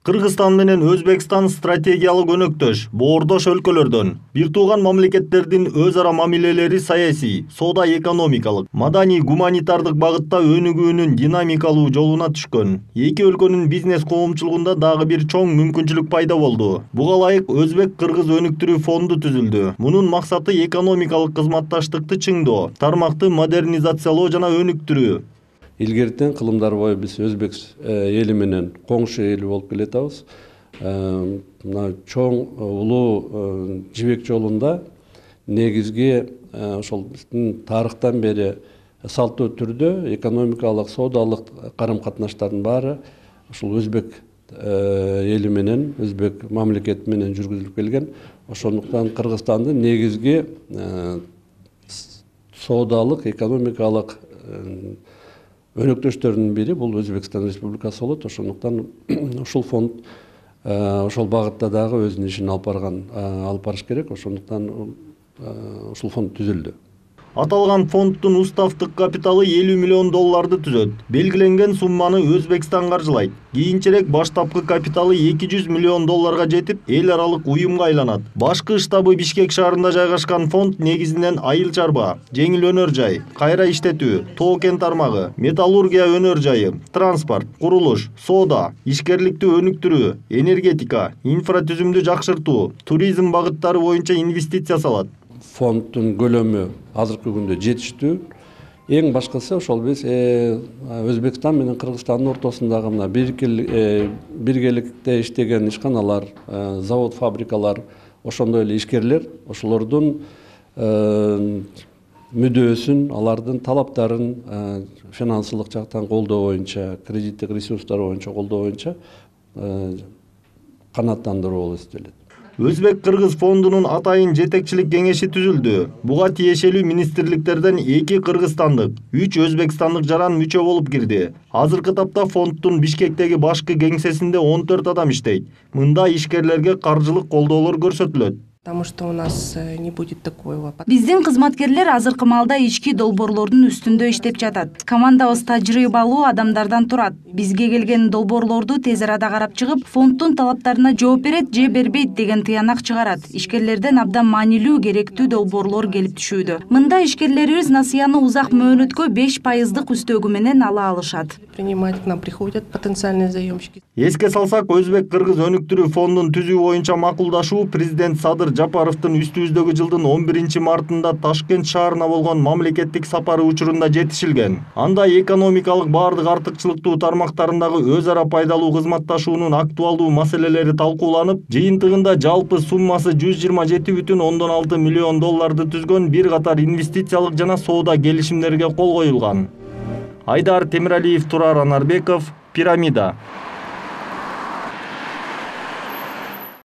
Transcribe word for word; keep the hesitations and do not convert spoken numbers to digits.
Кыргызстан менен Өзбекстан стратегиялык өнөктөш, боордош өлкөлөрдөн. Бир тууган мамлекеттердин өз ара мамилелери саясий, соода экономикалык, маданий гуманитардык багытта өнүгүүнүн динамикалуу жолуна түшкөн. Эки өлкөнүн бизнес коомчулугунда дагы бир чоң мүмкүнчүлүк пайда болду. Буга ылайык Өзбек-Кыргыз өнүктүрүү фонду түзүлдү. Мунун максаты экономикалык кызматташтыкты чыңдоо, тармакты модернизациялоо жана өнүктүрүү. Илгертен кылымдар бою биз Өзбек эли менен коңшу эл болуп келатабыз. Мына чоң улуу жибек жолунда негизги ошол биздин тарыхтан бери салттуу түрдө экономикалык, соодалык карым-катнаштардын баары ушул Өзбек эли менен, Өзбек мамлекети менен жүргүзүлүп келген. Ошондуктан Кыргызстандын негизги соодалык, экономикалык өнөктөштөрүнүн бири бул Өзбекстан Республикасы болот. Ошондуктан ушул фонд ошол багытта дагы өзүнүн ишин алып барган, алып барыш керек. Ошондуктан ушул фонд түзүлдү. Аталган фонддун уставдык капиталы элүү миллион долларды түзөт. Белгиленген сумманы Өзбекстан каржылайт. Кийинчерээк баштапкы капиталы эки жүз миллион долларга жетип, эл аралык уюмга айланат. Башкы штабы Бишкек шаарында жайгашкан фонд негизинен айыл чарба, жеңил өнөр жай, кайра иштетүү, тоо кен тармагы, металлургия өнөр жайы, транспорт, курулуш, соода, ишкерликти өнүктүрүү, энергетика, инфратүзүмдү жакшыртуу, туризм багыттары боюнча инвестиция салат. Фонддун көлөмү азыркы күндө жетиштүү. Эң башкысы ошол биз Өзбекстан менен Кыргызстандын ортосундагы мына биргеликте иштеген ишканалар, завод, фабрикалар, ошондой эле ишкерлер, ошолордун мүдөөсүн, алардын талаптарын финансылык жактан колдоо боюнча, кредиттик ресурстар боюнча колдоо боюнча канааттандыруу болуп эсептелет. Өзбек-Кыргыз фондунун атайын жетекчилик кеңеши түзүлдү. Буга тиешелүү министрликтерден эки кыргызстандык, үч өзбекстандык жаран мүчө болуп кирди. Азыркы тапта фонддун Бишкектеги башкы кеңсесинде он төрт адам иштейт. Мында ишкерлерге каржылык колдоолор көрсөтүлөт. Потому что у нас не будет такого. Биздин кызматкерлер азыркы маалда ички долбоорлордун үстүндө иштеп жатат. Командабыз тажрыйбалуу адамдардан турат. Бизге келген долбоорлорду тез арада карап чыгып, фонддун талаптарына жооп берет же бербейт деген тыянак чыгарат. Ишкерлерден абдан маанилүү, керектүү долбоорлор келип түшүүдө. Мында ишкерлерибиз насыяны узак мөөнөткө беш пайыздык үстөгү менен ала алышат. Принимать к нам приходят потенциальные заемщики. Эске салсак, Өзбек-Кыргыз өнүктүрүү фондун түзүү боюнча макулдашуу президент Садыр Жапаровдун үстүбүздөгү жылдын он биринчи мартында Ташкент шаарына болгон мамлекеттик сапары учурунда жетишилген. Анда экономикалык баардык артыкчылыктуу тармактарындагы өз ара пайдалуу кызматташуунун актуалдуу маселелери талкууланып, жыйынтыгында жалпы суммасы жүз жыйырма жети бүтүн ондон алты миллион долларды түзгөн бир катар инвестициялык жана соода келишимдерге кол коюлган. Айдар Темиралиев, Турар Анарбеков, Пирамида.